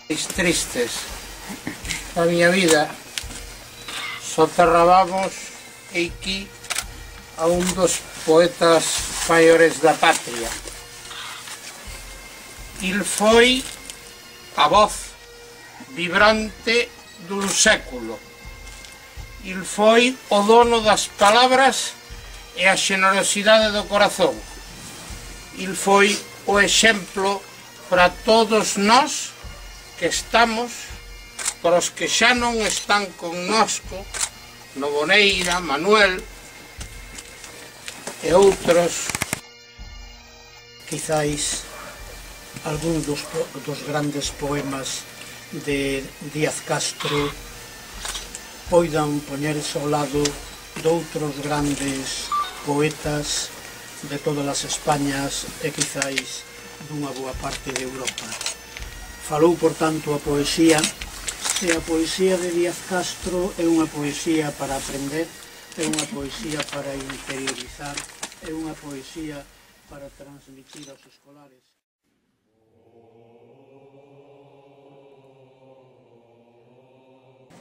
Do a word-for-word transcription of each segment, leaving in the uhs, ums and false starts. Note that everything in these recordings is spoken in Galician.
Tristes da miña vida, soterrabamos aquí a un dos poetas maiores da patria. Il foi a voz vibrante dun século. Il foi o dono das palabras e a xenerosidade do corazón. Il foi o exemplo para todos nós que estamos, para os que xa non están connosco, Noboneira, Manuel e outros. Quizáis algún dos, dos grandes poemas de Díaz Castro poidan poñerse ao lado de outros grandes poetas de todas as Españas e quizáis dunha boa parte de Europa. Falou, por tanto, a poesía, e a poesía de Díaz Castro é unha poesía para aprender, é unha poesía para interiorizar, é unha poesía para transmitir aos escolares.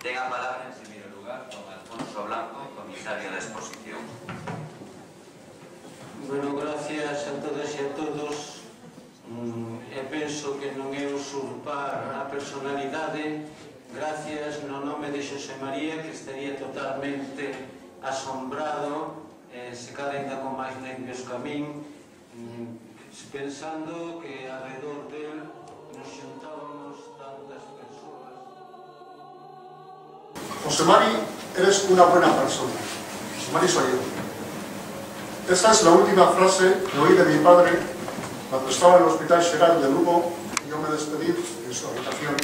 Ten a palabra, en primeiro lugar, don Alfonso Blanco, comisario da exposición. Bueno, gracias a todas e a todos. E penso que non é usurpar a personalidade. Gracias no nome de Xosé María, que estaría totalmente asombrado, se cada ainda con máis nervios que a min, pensando que alrededor del nos xuntábamos tantas persoas. José Mari, eres una buena persona. José Mari soy yo. Esta es la última frase que oí de mi padre cuando estaba en el Hospital Xeral de Lugo y yo me despedí en su habitación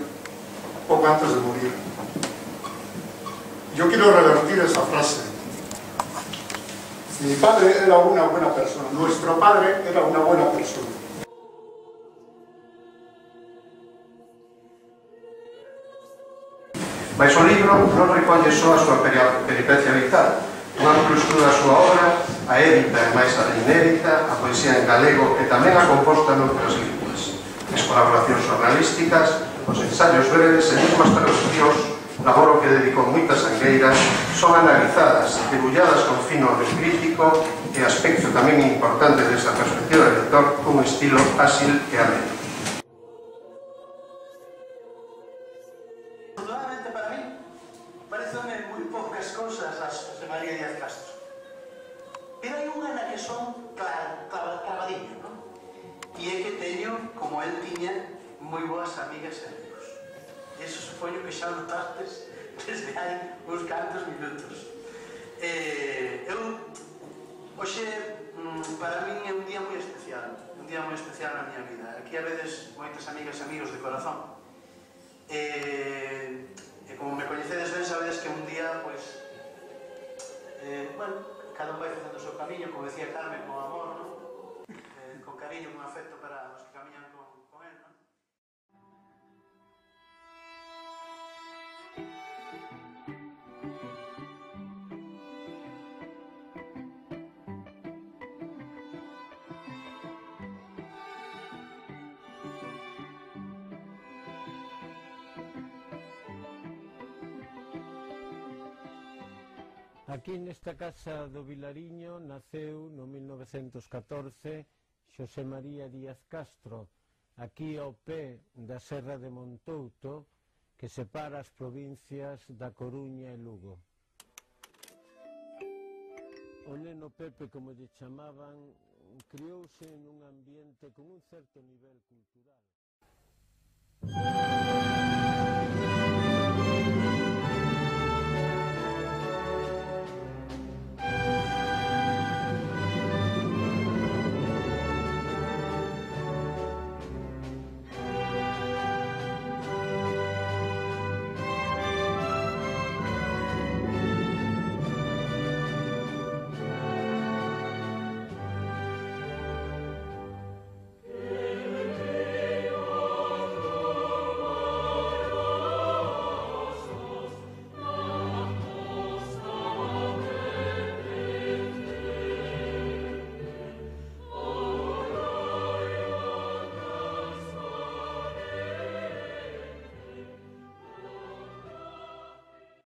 poco antes de morir. Yo quiero revertir esa frase. Mi padre era una buena persona, nuestro padre era una buena persona. Mais o libro non recolle só a súa peripecia vital. Un amplo estudo da súa obra, a édita e máis a inédita, a poesía en galego e tamén a composta noutras linguas. As colaboracións jornalísticas, os ensaios breves e mesmo as traduccións, laboro que dedicou moitas sangueiras, son analizadas, debulladas con fino crítico e aspecto tamén importante desta perspectiva do lector cun estilo fácil e ameno. Afortunadamente para mí, parecen moi poucas cousas as José María Díaz Castro. Pero hai unha na que son clavadiño, non? E é que teño, como el tiña, moi boas amigas e amigos. E iso supoño que xa notastes desde hai uns cantos minutos. Eu, hoxe, para min é un día moi especial, un día moi especial na miña vida. Aquí a veces moitas amigas e amigos de corazón. E, e como me coñecedes ben, sabedes que un día, pois, eh, bueno, cada un vai facendo o seu camiño, como decía Carmen, con amor, non? Eh, con cariño, con afecto para os que camiñan con, con él, non? Aquí nesta casa do Vilariño naceu no mil novecentos catorce Xosé María Díaz Castro, aquí ao pé da Serra de Montouto, que separa as provincias da Coruña e Lugo. O neno Pepe, como lle chamaban, criouse nun ambiente con un certo nivel cultural.